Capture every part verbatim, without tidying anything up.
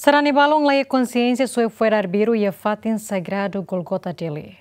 Sarani balun laiha konsiénsia soe fo'er arbiru iha fatin sagradu Golgota Dili.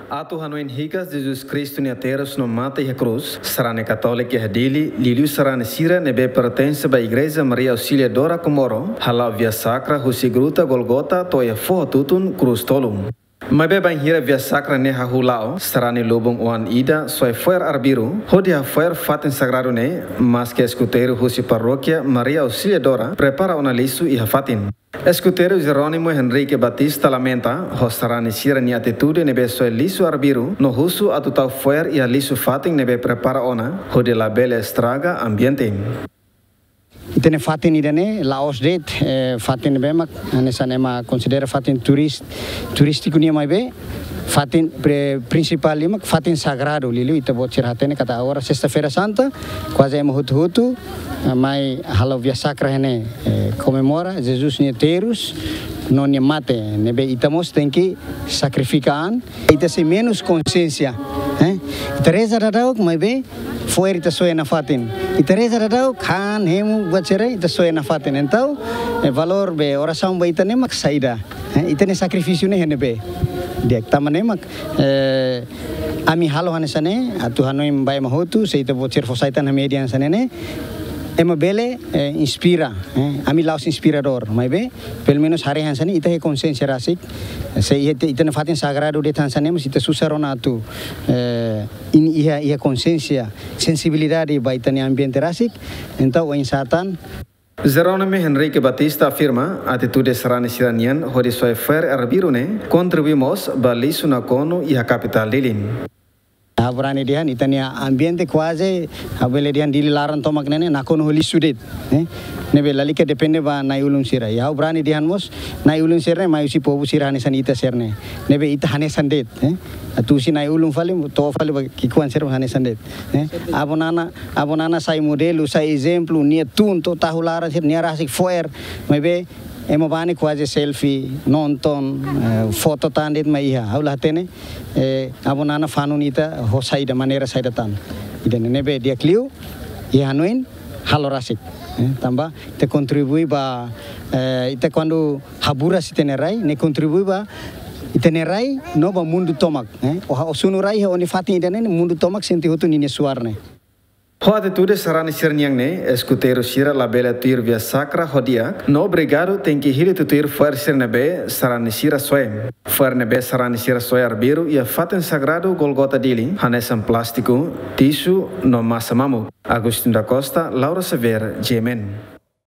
Atu hanoin hikas Jesus Kristu nia terus no mate iha krús, sarani katólika iha Dili, liuliu sarani sira ne'ebé pertense ba Igreja Maria Auxiliadora Comoro, hala'o via sakra husi gruta Golgota to'o iha foho tutun Krús Tolu. Maibé bainhira via sakra ne'e hahú la'o, sarani lubun oan ida soe fo'er arbiru, hodi hafo'er fatin sagradu ne'e, maske eskuteiru husi parókia Maria Auxiliadora prepara ona lixu iha fatin. Eskuteiru Jerónimo Henrique Batista lamenta ho sarani sira-nia atitude ne'ebé soe lixu arbiru no husu atu tau fo'er iha lixu fatin ne'ebé prepara ona, hodi labele estraga ambiente. Ita-nia fatin ida-ne'e la'ós de'it, eh, fatin ne'ebé mak hanesan ema konsidera fatin turis-, turístiku nian, maibé fatin pre-, prinsipál liu mak fatin sagradu, liuliu ita-boot sira hatene katak agora Sesta-feira Santa, kuaze ema hotu-hotu, eh, mai halo via sakra iha ne'e, eh, komemora Jesus nia terus no nia mate, ne'ebé ita mós tenke sakrifika an, ita sei menus konsiénsia, eh? Ita reza daudauk, maibé fo'er ita soe nafatin. Ita reza daudauk, han, hemu, buat sira, ita soe nafatin. Entaun, eh, valór be orasaun ba ita ne'e mak saida, eh? Ita-nia sakrifísiu ne'e iha ne'ebé? Di'ak, tanba ne'e mak, eh, ami halo hanesan ne'e, atu hanoin ba ema hotu, se ita-boot sira fó sai tan iha média hanesan ne'e, ema bele, eh, inspira, eh? Ami la'ós inspiradór, maibé pelumenus haree hanesan ne'e, ita iha konsiénsia rasik. Se iha ita, ita-nia fatin sagradu de'it hanesan ne'e, mas ita susar ona atu, eh, iha, iha konsiénsia, sensibilidade ba ita-nia ambiente rasik. Entaun, oinsá tan? Jerónimo Henrique Batista afirma, atitude sarani sira-nian hodi soe fo'er arbiru ne'e kontribui mós ba lixu nakonu iha kapitál Dili. Ha'u brani dehan ita-nia ambiente kuaze, ha'u bele dehan Dili laran tomak ne'e ne'e nakonu ho lixu de'it, eh? Ne'ebé lalika depende ba na'i-ulun sira. I ha'u brani dehan mós, na'i-ulun sira ne'e mai husi povu sira hanesan ita sira-ne'e. Ne'ebé ita hanesan de'it, eh? Atu husi na'i-ulun fali, to'o fali ba ki'ikoan sira hanesan de'it, eh? Avó Nana, avó Nana sai modelu, sai ezemplu, nia tun to'o tahu laran sira, nia rasik fo'er, maibé ema bá ne'e kuaze selfie, nonton, eh, foto tan de'it mak iha. Ha'u la hatene, eh, avó Nana fanun ita ho saida, maneira saida tan. Ida-ne'e ne'ebé di'ak liu, iha hanoin, halo rasik. Eh, tanba, ita kontribui ba, eh, ita kuandu haburas ita-nia rai, ne'e kontribui ba ita-nia rai no ba mundu tomak, eh. Ó, ó sunu rai iha ó-nia fatin ida-ne'e, mundu tomak sente hotu ninia suar ne'e. Ho atitude sarani sira-nian ne'e, eskuteiru sira labele tuir via sakra ho di'ak, no obrigadu tenke hili tutuir fo'er sira ne'ebé sarani sira soe. Fo'er ne'ebé sarani sira soe arbiru iha fatin sagradu Golgota Dili, hanesan plástiku, tisu, no masa mamuk. Agostinho da Costa, Laura Xavier, G M N.